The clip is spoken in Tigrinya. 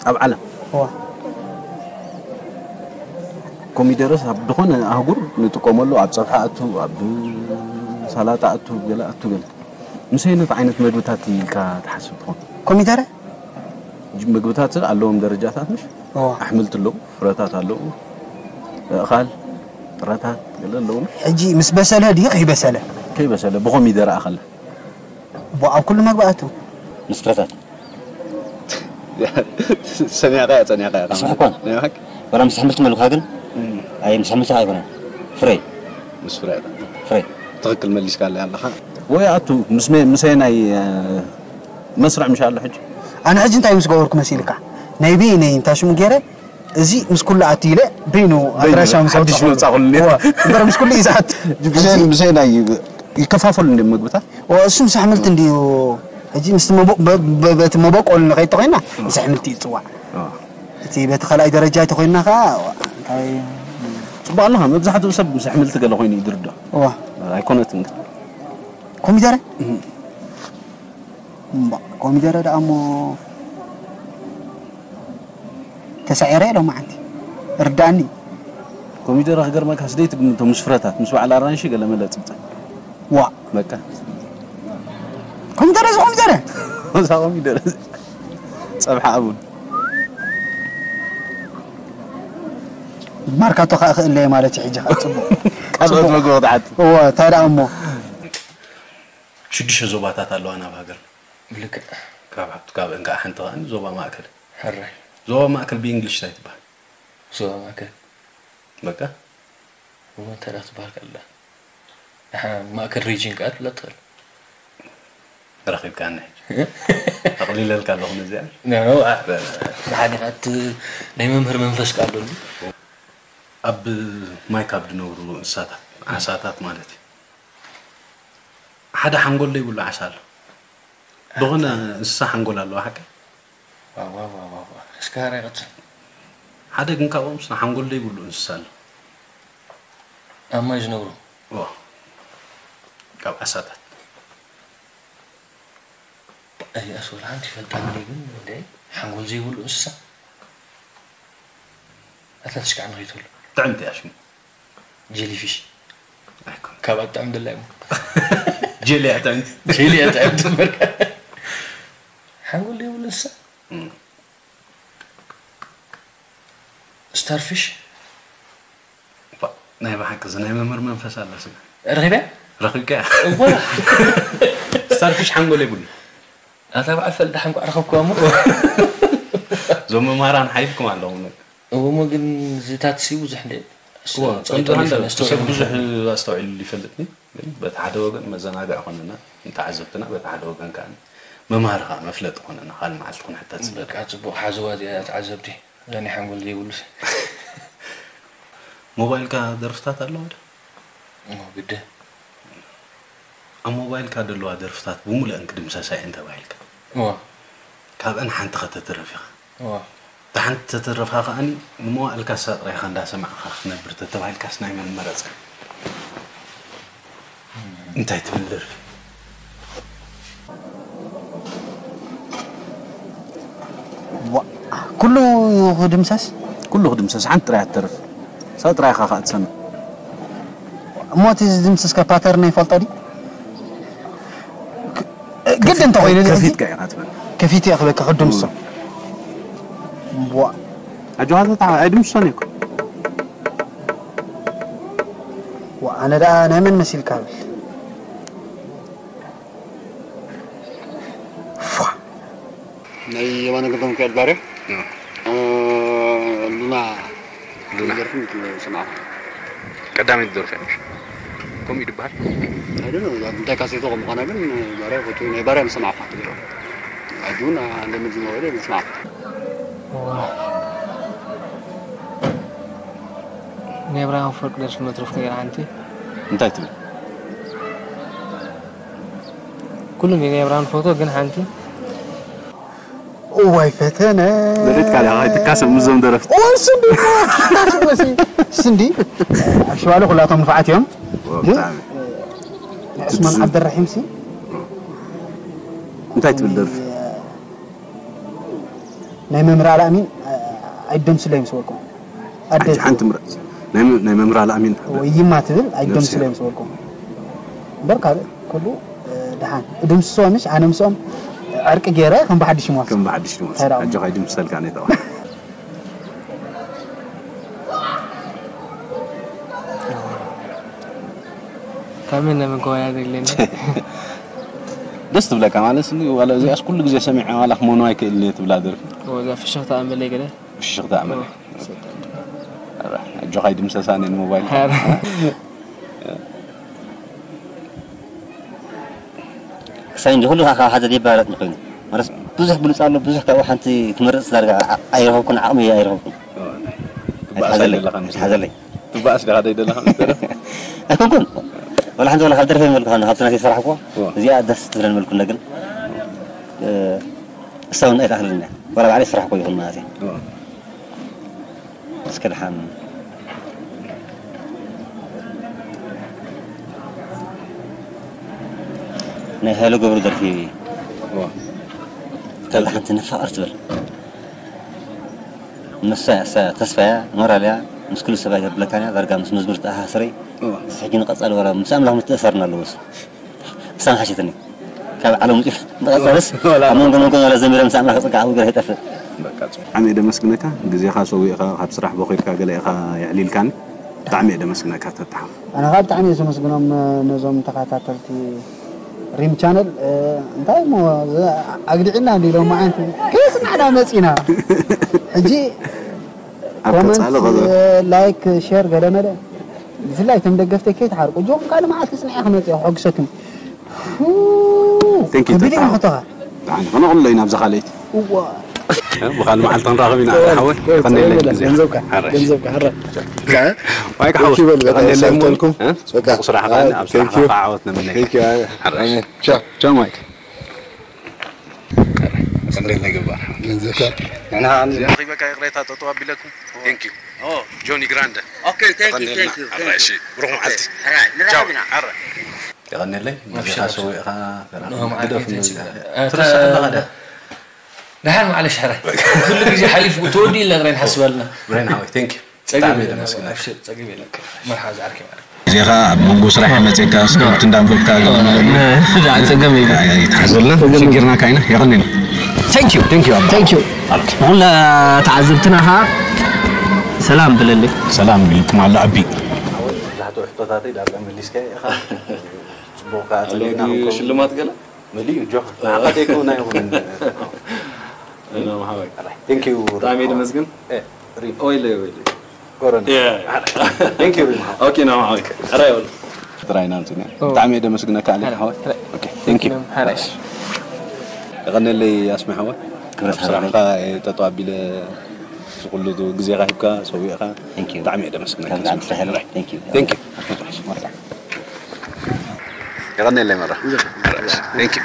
ኣብ ዓለም እዋ ኮሚደረስ ኣብ ዝኾነ ኣህጉር ንጥቀመሉ፣ ኣብ ጸብሒ ኣቱ፣ ኣብ ሰላጣ ኣቱ፣ ገለ ኣቱ፣ ገለ ምስ ኣይነት ዓይነት መግብታት ኢልካ ትሓስብ ትኾን? ኮሚደረ? ጅ- ምግብታት ኣለዎም ደረጃታት፣ ምሽ? እዋ ኣሕምልቲ ኣለዉ፣ ፍረታት ኣለዉ፣ ኣእኻል፣ ጥረታት ገለ ኣለዉ፣ ምሽ? ሕጂ ምስ በሰለ ድዩ ከይበሰለ? ከይበሰለ ብኾሚደረ ኣኸለ። ቦ ኣብ ኩሉ መግቢ ኣቱ። ምስ ፍረታት። ሰሚዕካ እያ፣ ጸኒዕካ እያ። ስምዕኳ። ናይ ብሓቂ? ወላ ምስ ኣሕምልቲ መልካ ግን? ኣይ፣ ምስ ኣሕምልቲ ኣይኮነን። ፍረ። ምስ ፍረ። ፍረ። ትኽክል መሊስካ ኣለ ኣለኻ። ወይ ኣቱ፣ ምስ መ-፣ ምስ ናይ፣ እ፣ መስርዕ ምሽ ኣሎ ሕጂ? ኣነ ሕጂ እንታይ ምስ ገበርኩ መሲልካ? ናይ በይነይ እንታይ ሽሙ ገይረ? እዚ ምስ ኩሉ ኣቱ ኢለ በይኑ ኣድራሻ ምስ ሓድሽ ኣውጻኹ። መጻኹ እኒአ። እዋ፣ እምበር ምስ ኩሉ እዩ ዝኣቱ። ብዘይ፣ ብዘይ ናይ ይከፋፈሉ እንደ ምግብታት? እዋ፣ እሱ ምስ ኣሕምልቲ እንድዩ። ሕጂ ምስቲ መቦ-፣ በ-፣ በ-፣ በቲ መበቆል ንኸይድ ተኾይና ምስ ኣሕምልቲ እዩ ዝጽዋዕ። እዋ። እቲ በቲ ካልኣይ ደረጃ እንተኾይና ኸዓ፣ እንታይ ጽቡቕ ኣለኻ፣ መብዛሕትኡ ሰብ ምስ ኣሕምልቲ ገለ ኮይኑ እዩ ዝርድኦ። እዋ። ኣይኮነትን ግን። ኮሚደረ? እም። እምባ፣ ኮሚደረ ደኣ እሞ ተሳዒረ ሎማዓንቲ። ርዳእኒ። ኮሚደረ ክገርመካ፣ ስደይ ትግምቶ ምስ ፍረታት፣ ምስ በዓል ኣራንሺ ገለ መለ ጽብጸብ። ዋ። በቃ። ኮሚደረ፣ እዚ ኮሚደረ? እዛ ኮሚደረ። ጸብሓ ኣቡን። ማርካቶ ከኣ ክእለየ ማለት እዩ ሕጂ ከኣ ጽቡቕ። ካልኦት ጽቡቕ። መግቢ ክትሓት። እወ፣ እንታይ ደኣ እሞ። ሽዱሽተ ዞባታት ኣለዋና ኣብ ሃገርና። ልክዕ። ካብ፣ ካብ እንካዓ ሓንቲ ከኣ ዞባ ማእከል። ሕራይ። ዞባ ማእከል ብእንግሊሽ እንታይ ትበሃል? ዞባ ማእከል። በቃ። እሞ እንታይ ደኣ ክትበሃል ከላ? ንሓ-፣ ማእከል ሪጅን ከኣ ትብላ ትኽእል። ረኺብካኒ ሕጂ። ኣቕሊለልካ ኣለኹ ነዚኣ። ኖ፣ ኖ፣ ኣ-፣ ንሓደ ከኣ እቲ ናይ መምህር መንፈስ ከኣ ኣሎ እንዲ። ኣብ ማይ ካብ ዝነብሩ እንስሳታት፣ ዓሳታት ማለት እዩ። ሓደ ሓንጎል ዘይብሉ ዓሳ ኣሎ። ዝኾነ እንስሳ ሓንጎል ኣለዎ፣ ሓቂ? ዋው፣ ዋው፣ ዋው፣ ዋው፣ ዋው። እስከ ሃራይ ቀጽል። ሓደ ግን ካብኦም ስነ ሓንጎል ዘይብሉ እንስሳ ኣሎ። ኣብ ማይ ዝነብሩ? እዎ። ካብ ዓሳታት። ኣይ፣ ኣስወል ሓንቲ ይፈልጣኒ ግን፣ እንደ ሓንጎል ዘይብሉ እንስሳ። ኣታ ትሽካዕ ንኸይትብሉ። ጥዕምቲ እያ ሽሙ። ጀሊፊሽ። ኣይኮን። ካብ ኣጣዕም ደላይ እሞ። ጀሊ ኣጣዕምቲ። ጀሊ ኣጣዕምቲ እምበር። ሓንጎል ዘይብሉ እንስሳ። እም። ስታርፊሽ። ባ፣ ናይ ብሓቂ እዚ ናይ መምህር መንፈስ ኣሎ ስጋ። ረኺበ? ረኺብካያ? እወ። ስታርፊሽ ሓንጎል የብሉ። ኣታ በዓል ፈልጣሕ እንኳዕ ረኸብኩዋ እሞ። እዞም መምሃራን ሓይልኩም ኣለኹም። እዎ፣ እሞ ግን እዚ ታክሲ ብዙሕ እንደ እዎ፣ ጸይጦ ከምዚ ይፈልጥ፣ ሃንደ ኣስተውዒሉ ሰብ ብዙሕ ይፈልጥ። ኣስተውዒሉ ይፈልጥኒ፣ ግን በቲ ሓደ ወገን መዘናግዒ ኮነና፣ ንተዓዘብትና፣ በቲ ሓደ ወገን ከኣ መምሃሪ ከኣ መፍለጢ ኮነና፣ ካልእ መዓልቲ ክንሕተት ስለ በቃ፣ ጽቡቕ ሓዝዋ እዚኣ ተዓዘብቲ፣ እዛ ናይ ሓንጎል ዘይብሉስ። ሞባይልካ ደርፍታት ኣለዋ ዶ? እዎ፣ ግድን። ኣብ ሞባይልካ ዘለዋ ደርፍታት ብምሉአን ክድምሰሳ እየን ተባሂልካ። እዎ። ካብአን ሓንቲ ከተትርፍ ኢኻ። እዎ። እታ ሓንቲ ተትርፋ ከኣኒ ንመዋእልካ እሳ ጥራይ ኢኻ እንዳሰማዕካ ክትነብር ተተባሂልካስ ናይ መን ምመረጽካ? እንታይ ትብል ደርፊ? ዋ፣ ኩሉ ክድምሰስ? ኩሉ ክድምሰስ፣ ሓንቲ ጥራይ እያ ትተርፍ። እሳ ጥራይ ኢኻ ከኣ ትሰምዕ። እሞ እቲ ዝድምስስ ከ ፓተርን ይፈልጦ ድዩ? ክ-፣ ግድን እንተኾይኑ ከፊትካ ኢኻ ትብል። ከፊት እየ ክብለካ ክድምሶ። ዋ። ኣጆኻ ተታ-፣ ኣይድምስሶን እየ እኮ። ዋ፣ ኣነ ደኣ ናይ መን መሲልካ ብል? ፏ። ናይ የማነ ገብረሚካኤል ባርያ። እ። እ፣ ሉና ሉና። ደርፊ ሰማዕኩ። ቀዳመይቲ ደርፊ እያ ምሽ? ከምኡ እዩ ዝበሃል? I don't know፣ እንታይ ካሴቶ ከም ምዃና ግን ባርያ ፈትዩ፣ ናይ ባርያ ምስ ሰማዕኩ ካብቲ ደርፊ። ሕጂ እውን ኣለምድ ዝነበረ ምስ ሰማዕኩ። እዋ። ናይ ብርሃን ኣፈወርቂ ደርፊ መትረፍ ነይራ ሓንቲ። እንታይ ትብል? ኩሉ ናይ ብርሃን ፎቶ ግን ሓንቲ። እዋይ ፈተነ። ዘሪጥካ ዲኻ? ኣይትካሰ ምስዞም ደረፍቲ። እዋይ ስንዲ። ስንዲ። ኣሽዋለ ኩላቶም ንፋዓት እዮም። ግን ብጣዕሚ። ናይ ዑስማን ዓብደራሒም ሲ እንታይ ትብል ደርፊ? ናይ መምህር ኣልኣሚን ኣይደምስለይ ምስ በልኩም ኣደ ሓንቲ ሓንቲ ምረጽ ናይ መ- ናይ መምህር ኣልኣሚን ወይማ ትብል ኣይደምስለይ ምስ በልኩም እምበር ካልእ ኩሉ ደሓን እድምስሶ ምሽ ኣነ ምስኦም ዕርቂ ገይረ ከም ብሓድሽ ይመልስ ከም ብሓድሽ ይመልስ ኣጆኻ ይድምሰልካ ነተዋ ካብ መን ናብ መን ክወዳደር ኢለኒ ደስ ትብለካ ማለት ስ ዋላ እዚኣስ ኩሉ ግዜ ሰሚዐ ዋላ ክመኑ ኣይክእልን እየ ትብላ ደርፊ ወዛ ፍሽኽታ ኣንበለይ ገለ ፍሽኽታ ኣመለ ኣጆኻ ይድምሰሳ ነ ሞባይል ክሳይ እንጂ ኩሉ ካብ ሓደ ይባረጥ ኮይኑ ማለት ብዙሕ ብሉፅ ኣሎ ብዙሕ ካብኡ ሓንቲ ክመርፅ ዳርጋ ኣይረኸብኩን ዓቕሚ ኣይረኸብኩን ትበኣስ ሓዘለይ ዘለኻ ምስ ሓዘለይ ትበኣስ ዲኻ ደይ ዘለኻ ምስ ደረፍ ኣይኮንኩን ወላ ሓንቲ ወላ ካብ ደርፈ መልኩ ካብ ናተይ ዝሰራሕኩ እዋ። እዚኣ ደስ ትብለን መልኩ ግን እሳውን ኣይተኣኽልን እያ ወላ ባዕለይ ዝሰራሕኩ ይኹን ማለት እዩ እስከ ድሓን ናይ ሃይለ ገብሩ ደርፊ እዋ። ካብ ሓንቲ ንፋቕር ትብል ንሳ እያ እሳ ተስፋያ ሞራልያ ምስ ኩሉ ሰብኣይ ተብለካንያ ዳርጋ ምስ መዝሙር ተኣሳስረይ እዋ። ሕጂ ንቐጻሊ ወላ ምስ ኣምላኽ ምትእሳርና ኣለዎ እሱ እሳ ሓሸትኒ ካብ ዓለም ውፅኢት ንቐጻልስ ኣብ መንጎ መንጎ ወላ ዘሚረ ምስ ኣምላኽ ፅቃ ኣብ ገር ይጠፍእ ብጣዕሚ እየ ደመስግነካ ግዜኻ ሰዊእኻ ካብ ስራሕ ቦኺድካ ገለ ኢኻ የዕሊልካኒ ብጣዕሚ እየ ደመስግነካ ተተሓ ኣነ ካብ ብጣዕሚ እየ ዘመስግኖም ነዞም ተኸታተልቲ ሪም ቻነል እንታይ ሞ ኣግዲዕና እንዲሎም መዓንቲ ከየስናዕና መፂና ሕጂ ኣብ ኮመንት ቀጻሊ ኸ- ላይክ ሼር ገለመለ ብፍላይ ከም ደገፍተይ ከይትሓርቁ እጆም ካልእ መዓልቲ ስንዓ ክመፅእ ከሕጉሰኩም Thank you, ከቢድ ተታ። ይመክተኻ ብጣዕሚ ከነቕሎ ኢና ብዛ ካልኣይቲ እዋ ብኻል መዓልቲ ክንራኸብ ኢና ሓወይ ቀንደለይ ግዜ ገንዘብካ ገንዘብካ ሕረ ዋይ ክሓወስ ይበል፣ በቃ ቀንደለይ ይሰልጠልኩም። እ? በቃ ብቑ ስራሕኻ ኣይ፣ ኣብ thank ስራሕኻ you። ከዓ ዓወት ንምነይ Thank you። ሓራሽ ቻው። ቻው ማይክ ቀንደለይ ገባር ገንዘብካ ንሕና ረኺበካ ይቕሬታ ጠጠው ኣቢለኩም Thank you ኦ ጆኒ ግራንደ Okay, thank you, thank you, thank ሓራሽ you. ብሩኽ መዓልቲ Alright, ንራኸብ ኢና። ቀንደለይ ነዚኻ ሰዊእኻ ግደፍ ደሓን ማዕለሽ ሕራይ ኩሉ ግዜ ሓሊፉ ተወዲኡ ኢልና ጥራይ ንሓስብ ኣለና ብሬን ሓወይ Thank you ጸገም ብጣዕሚ የለን ደመስግነካ ኣብሽር ጸገም የለን መርሓ ዝዓርከ ማለት እዚኻ ኣብ መንጎ ስራሕ መፅእካ ስፖርት እንዳንበብካ ጸገም የለን ይትሓዘልና ሽግርና ካይና የቐንል Thank you thank you thank you ንኹላ ተዓዘብትና ኸዓ ሰላም ብለለይ ሰላም ኢልኩም ኣሎ ኣቢ መብዛሕትኡ ሕቶታተይ ዳርጋ መሊስካዮ ኢኻ። ጽቡቕ ከኣ ጸኒሕና ክንከውን። ሽልማት ገለ መሊኡ ጆክ ንዓኻ ዘይከውን ኣይኹንን። ማሓወይ Thank you. ብጣዕሚ ደመስግን ሪም ኦይለ ኦይለ ኮረና። Thank you ሪም። ኦኬ ና ማሓወይ ሕራይ ወሉ ጥራይ ኢና ምፅና ብጣዕሚ እየ ደመስግነካ ኣሊ ሓወይ Thank you ሓራሽ የቐነለይ ኣስሚ ሓወይ ክብረት ኣብ ስራሕካ ጠጠው ኣቢለ ዝኩሉ ግዜኻ ሂብካ ሰዊእካ Thank you. ብጣዕሚ እየ ደመስግነካ ካብ ብጣዕሚ ስራሕ የለን። Thank you. Thank you የቐነለይ መራ Thank you